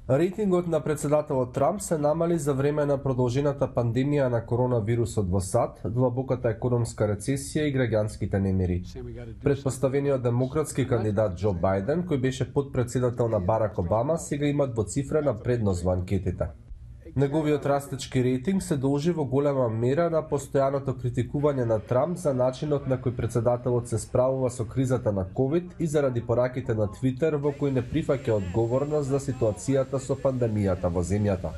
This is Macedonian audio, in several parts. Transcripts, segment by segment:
Рейтингот на председателот Трамп се намали за време на продолжената пандемија на коронавирусот во САД, длабоката економска рецесија и граѓанските немири. Претпоставениот демократски кандидат Џо Бајден, кој беше потпредседател на Барак Обама, сега има двоцифрена предност во анкетите. Неговиот растечки рейтинг се должи во голема мера на постојаното критикување на Трамп за начинот на кој председателот се справува со кризата на ковид и заради пораките на Твитер во кои не прифаќа одговорност за ситуацијата со пандемијата во земјата.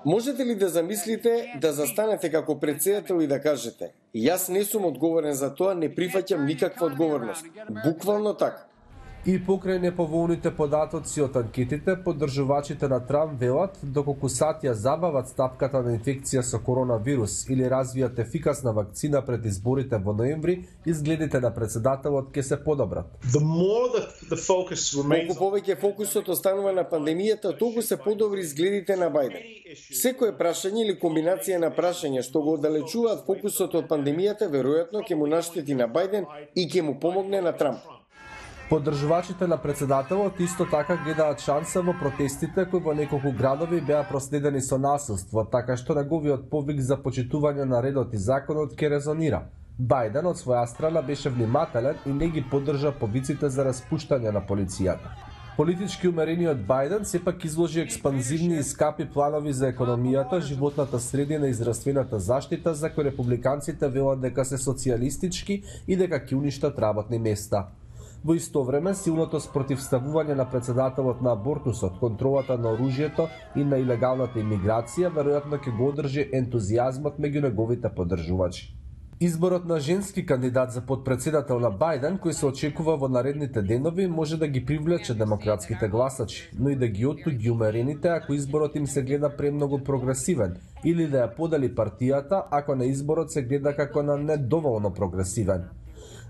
Можете ли да замислите да застанете како председател и да кажете: јас не сум одговорен за тоа, не прифаќам никаква одговорност? Буквално така. И покрај неповолните податоци од анкетите, поддржувачите на Трамп велат доколку сад ја забават стапката на инфекција со коронавирус или развијат ефикасна вакцина пред изборите во ноември, изгледите на председателот ќе се подобрат. Колку повеќе фокусот останува на пандемијата, толку се подобри изгледите на Бајден. Секое прашање или комбинација на прашања што го оддалечуваат фокусот од пандемијата веројатно ќе му наштети на Бајден и ќе му помогне на Трамп. Поддржувачите на председателот исто така гледаат шанса во протестите кои во неколку градови беа проследени со насилство, така што неговиот повик за почитување на редот и законот ќе резонира. Бајден од своја страна беше внимателен и не ги поддржа повиците за распуштање на полицијата. Политички умерениот Бајден сепак изложи експанзивни и скапи планови за економијата, животната средина и здравствената заштита, за кои републиканците велат дека се социјалистички и дека ќе уништат работни места. Во исто време, силното спротивставување на председателот на абортусот, контролата на оружјето и на илегалната имиграција веројатно ќе го одржи ентузијазмот меѓу неговите поддржувачи. Изборот на женски кандидат за потпредседател на Бајден, кој се очекува во наредните денови, може да ги привлече демократските гласачи, но и да ги оттуѓи умерените ако изборот им се гледа премногу прогресивен, или да ја подели партијата ако на изборот се гледа како на недоволно прогресивен.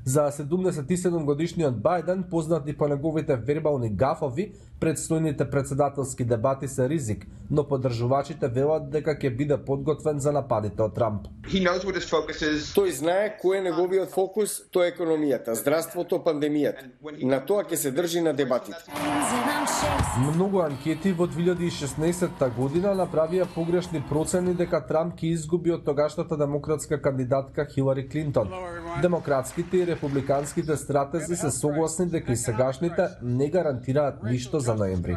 За 77 годишниот Бајден, познат и по неговите вербални гафови, предстојните председателски дебати се ризик, но поддржувачите велат дека ќе биде подготвен за нападите од Трамп. Тој знае кој е неговиот фокус, тоа е економијата, здравството, пандемијата. На тоа ќе се држи на дебатите. Многу анкети во 2016 година направија погрешни процени дека Трамп ќе изгуби од тогашната демократска кандидатка Хилари Клинтон. Демократските и републиканските стратези се согласни дека и сегашните не гарантираат ништо за ноември.